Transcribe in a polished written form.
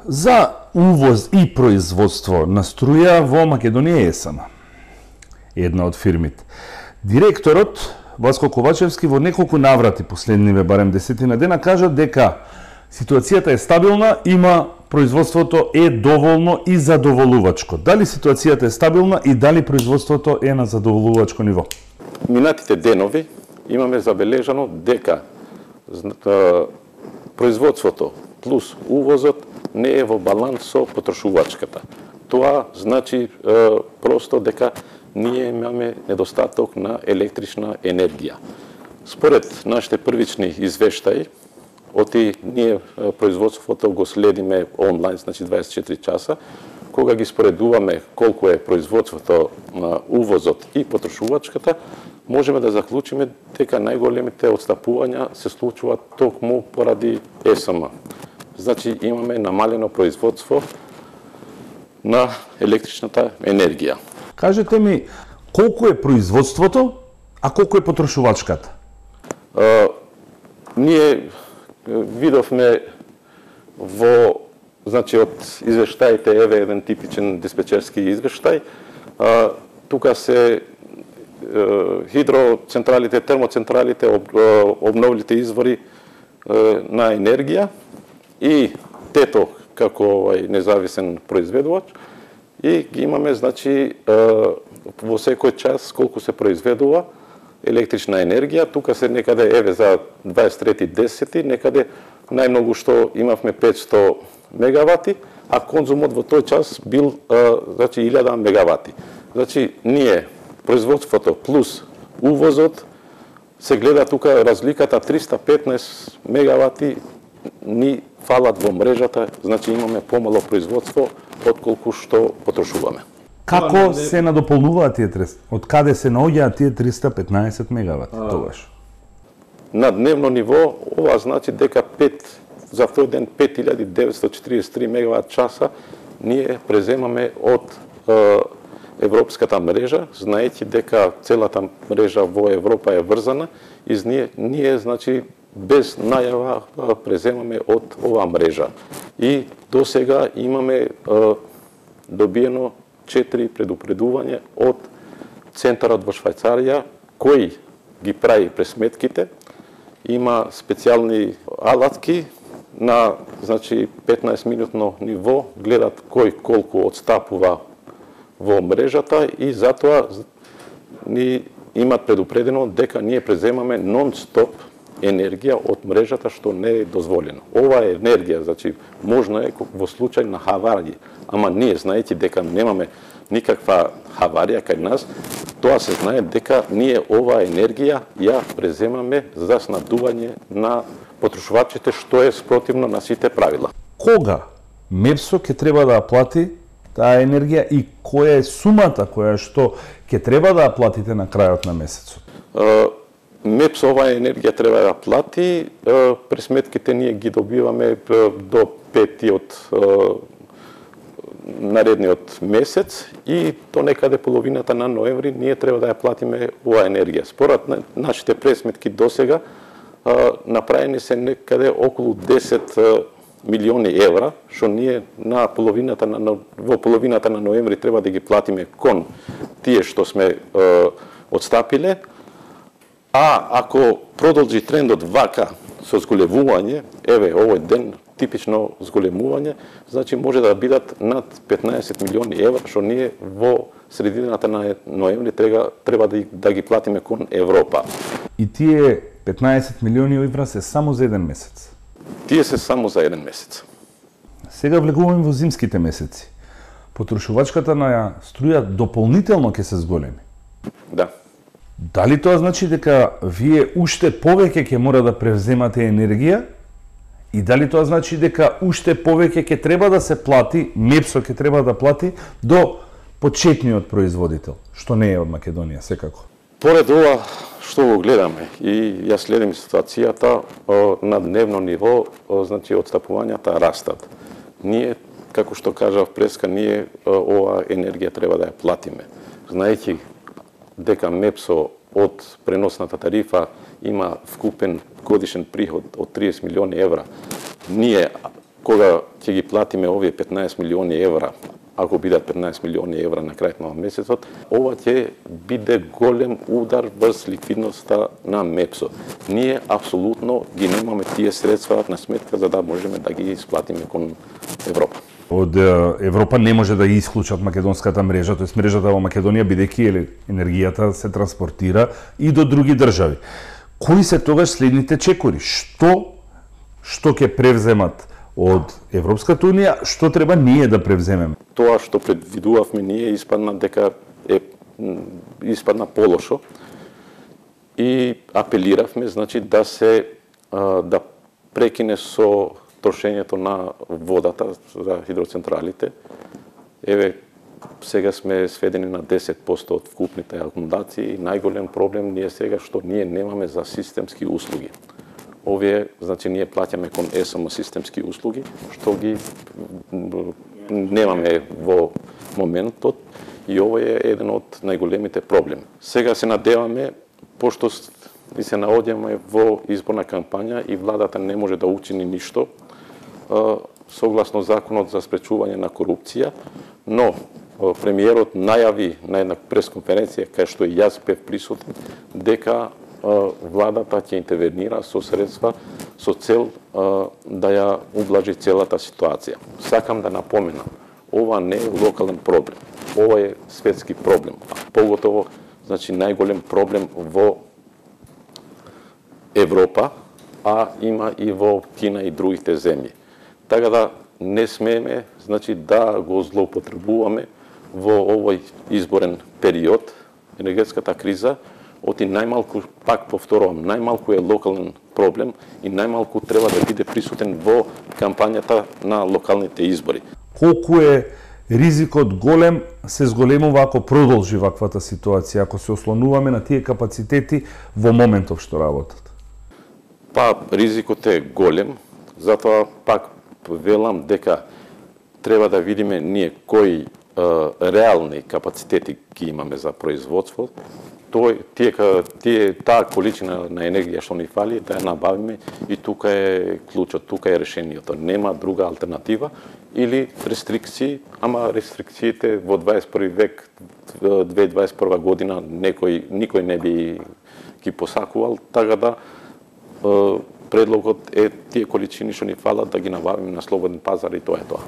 За увоз и производство на струја во Македонија ЕСМ, една од фирмите. Директорот Васко Ковачевски во неколку наврати последниве барем 10 дена кажа дека ситуацијата е стабилна, има производството е доволно и задоволувачко. Дали ситуацијата е стабилна и дали производството е на задоволувачко ниво? Минатите денови имаме забележано дека производството плюс увозот не е во баланс со потрошувачката. Тоа значи просто дека ние имаме недостаток на електрична енергија. Според нашите првични извештаи, ние производството го следиме онлайн, значи 24 часа, кога ги споредуваме колку е производството на увозот и потрошувачката, можеме да заклучиме дека најголемите отстапувања се случуваат токму поради ЕСМ. Значи имаме намалено производство на електричната енергија. Кажете ми, колку е производството, а колку е потрошувачката? Ние видовме значи од извештаите, еве еден типичен диспечерски извештај, тука се хидроцентралите, термоцентралите, обновливите извори на енергија и ТЕТО како независен произведувач, и ги имаме, значи, во секој час колку се произведува електрична енергија. Тука се некаде, еве, за 23.10, некаде најмногу што имавме 500 мегавати, а конзумот во тој час бил, значи, 1000 мегавати. Значи, ние, производството плюс увозот, се гледа тука разликата 315 мегавати ни фалат во мрежата, значи имаме помало производство отколку што потрошуваме. Како се надополнуваат тие 300? Од каде се наоѓаат тие 315 мегавати тогаш? На дневно ниво, ова значи дека за тој ден 5943 мегават часа ние преземаме од европската мрежа, знаејќи дека целата мрежа во Европа е врзана, и ние значи без најава преземаме од оваа мрежа. И до сега имаме добиено 4 предупредувања од центарот во Швајцарија, кој ги прави пресметките, има специјални алатки на, значи, 15-минутно ниво, гледат кој колку отстапува во мрежата, и затоа ни имат предупредено дека ние преземаме нон-стоп енергија од мрежата, што не е дозволено. Ова е енергија, значи, можно е во случај на хаварија, ама ние, знаејќи дека немаме никаква хаварија кај нас, тоа се знае дека ние оваа енергија ја преземаме за снабдување на потрошувачите, што е спротивно на сите правила. Кога МЕПСО ќе треба да плати таа енергија и која е сумата која што ќе треба да платите на крајот на месецот? МЕПС оваа енергија треба да плати, пресметките ние ги добиваме до 5 наредниот месец, и до некаде половината на ноември ние треба да ја платиме оваа енергија. Според нашите пресметки досега направени се некаде околу 10 милиони евра, што ние во половината на ноември треба да ги платиме кон тие што сме отстапиле. А ако продолжи трендот вака со зголемување, еве овој ден типично зголемување, значи може да бидат над 15 милиони евра, што ние во средината на ноември треба да ги платиме кон Европа. И тие 15 милиони евра се само за еден месец? Тие се само за еден месец. Сега влегуваме во зимските месеци. Потрошувачката на струја дополнително ќе се зголеми? Да. Дали тоа значи дека вие уште повеќе ќе мора да превземате енергија? И дали тоа значи дека уште повеќе ќе треба да се плати, МЕПСО ќе треба да плати до почетниот производител, што не е од Македонија секако? Поред ова што го гледаме и ја следим ситуацијата на дневно ниво, значи отстапувањата растат. Ние, како што кажав преска, ние оваа енергија треба да ја платиме. Знаејќи дека МЕПСО од преносната тарифа има вкупен годишен приход од 30 милиони евра. Ние кога ќе ги платиме овие 15 милиони евра, ако бидат 15 милиони евра на крајот на месецот, ова ќе биде голем удар врз ликвидноста на МЕПСО. Ние апсолутно ги немаме тие средства на сметка за да можеме да ги исплатиме кон Европа. Од Европа не може да ги исклучат македонската мрежа, тоест мрежата во Македонија, бидејќи енергијата се транспортира и до други држави. Кои се тогаш следните чекори? Што ќе превземат од Европската унија, што треба ние да превземеме? Тоа што предвидувавме ние испадна дека испадна полошо и апелиравме, значи да прекине со трошењето на водата за хидроцентралите. Еве, сега сме сведени на 10% од вкупните акумулации и најголем проблем ние сега што ние немаме за системски услуги. Овие, значи, ние плаќаме кон ЕСМ системски услуги, што ги немаме во моментот и ова е еден од најголемите проблеми. Сега се надеваме, пошто и се наоѓаме во изборна кампања и владата не може да учини ништо, согласно законот за спречување на корупција, но премиерот најави на една пресконференција, кај што и јас бев присутен, дека владата ќе интервенира со средства со цел да ја ублажи целата ситуација. Сакам да напоменам, ова не е локален проблем, ова е светски проблем, поготово, значи, најголем проблем во Европа, а има и во Кина и другите земји. Така да не смееме, значи, да го злоупотребуваме во овој изборен период. Енергетската криза, оти најмалку, пак повторувам, најмалку е локален проблем и најмалку треба да биде присутен во кампањата на локалните избори. Колку е ризикот голем се зголемува ако продолжи ваквата ситуација, ако се ослонуваме на тие капацитети во моментов што работат? Па, ризикот е голем, затоа пак велам дека треба да видиме ние кои реални капацитети ги имаме за производство. Таа количина на енергија што ни фали, да ја набавиме и тука е клучот, тука е решението. Нема друга алтернатива или рестрикции, ама рестрикциите во 21 век, 2021 година никој не би ги посакувал, така да предлогот е тие количини што ни фалат да ги набавиме на слободен пазар и тоа е тоа.